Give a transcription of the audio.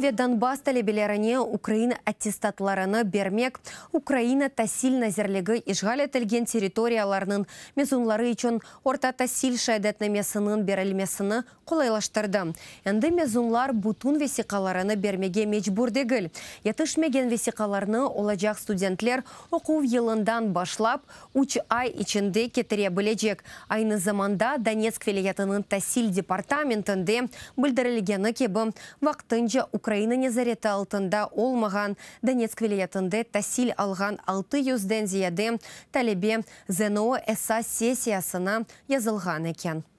Qırım ve Donbass talebelerine ukrain attestatlarını bermek Ukraina Tasil nazirligi işğal etilgen territoriyalarnıñ mezunları içün orta tasil şeadetnamesiniñ berilmesini qolaylaştırdı. Endi mezunlar bütün vesiqalarını bermege mecbur degil. Yetişmegen vesiqalarnı olacaq studentler oquv yılından başlap üç ay içinde ketire bilecek. Aynı zamanda Donetsk vilâyetiniñ tasil departamentinde bildirilgeni kibi, vaqtınca Ukraina nezareti altında olmağan Donetsk vilâyetinde tasil alğan altı yüzden ziyade talebe ZNO esas sessiyasına yazılğan eken.